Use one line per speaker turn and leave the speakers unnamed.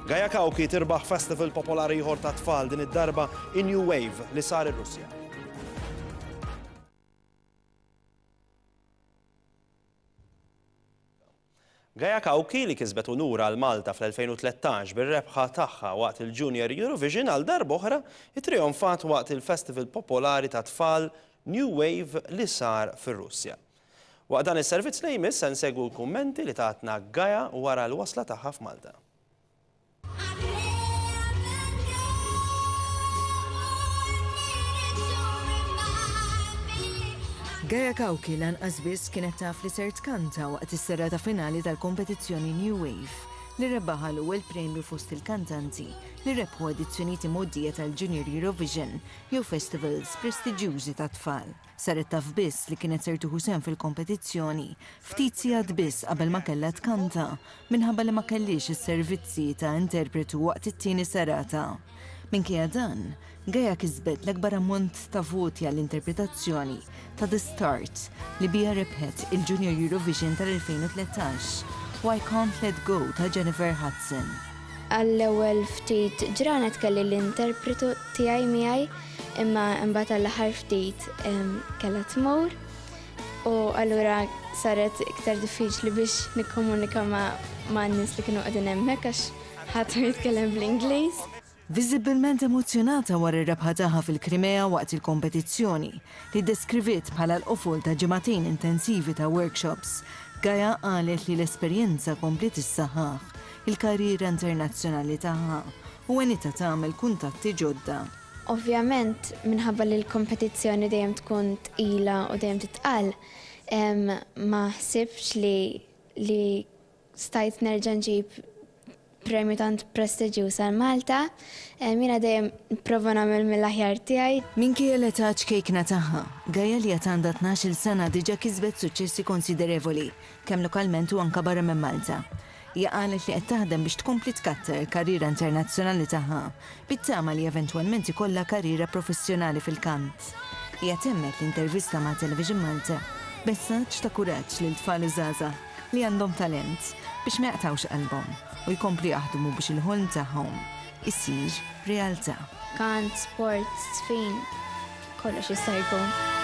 Gaia Cauchi tirbaħ festival popolari ieħor tat-tfal din id-darba in-New Wave li sar ir-Russja. Gaia Cauchi li kisbet unur għal Malta fl-2013 bir-rebħa tagħha waqt il-Junior Eurovision għal darb'oħra ittrijonfat waqt il-festival popolari tat-tfal New Wave li sar fir-Russja. Waqt dan is-servizz li jmiss se nsegwu l-kummenti li tatna Gaia wara l-wasla tagħha f'Malta.
Gaia Cauchi lanqas biss kienet taf li ser tkanta waqt is-serata finali tal-kompetizzjoni New Wave li rebbaħha l-ewwel premju fost il-kantanti li rebħu edizzjonijiet imgħoddija tal-Junior Eurovision jew festivals prestiġjużi tat-tfal. Saret taf biss li kienet ser tieħu sehem fil-kompetizzjoni ftit sigħat biss qabel ma kellha tkanta minħabba li ma kellhiex is-servizzi ta' interpretu waqt it-tieni serata. Minkejja dan, Gaia kisbet l-akbar ammont ta' voti għall-interpretazzjoni ta' The Start li biha rebħet il-Junior Eurovision tal-2013 u I Can't Let Go ta' Jennifer Hudson.
Għall-ewwel ftit ġranet kelli l-interpretu tiegħi miegħi Imma imbagħad għall-aħħar ftit kellha tmur u allura saret iktar diffiċli biex nikkomunika ma' nies li kienu qegħdin hemmhekk għax ħadd ma jitkellem bl-Ingliż.
Viżibbilment emozzjonata wara r-rebħa tagħha fil-Krimea waqt il-kompetizzjoni, li ddeskriviet bħala l-qofol ta' ġimagħtejn intensivi ta' workshops, Gaia qalet li l-esperjenza kompliet issaħħaħ il-karriera internazzjonali tagħha u għenitha tagħmel kuntatti ġodda.
Ovvjament minħabba li l-kompetizzjoni dejjem tkun tqila u dejjem titqal, ma ħsibtx li li stajt nerġa' nġib premju tant prestiġjuż għal Malta. Jiena dejjem nipprova nagħmel mill-aħjar tiegħi.
Minkejja l-età ċkejkna tagħha, Gaia li għad għandha 12-il sena diġà kisbet suċċessi konsiderevoli, kemm lokalment u anke barra minn Malta. Hija qalet li qed taħdem biex tkompli tkattar il-karriera internazzjonali tagħha, bit-tama li eventwalment ikollha karriera professjonali fil-kant. Hija temmet l-intervista ma' Television Malta b'messaġġ ta' kuraġġ lil tfal u żgħażagħ li għandhom talent biex ma jaqtgħux qalbhom u jkomplu jaħdmu biex il-ħolm tagħhom isir realtà.
Kant, sport, żfin, kollox jista' jkun.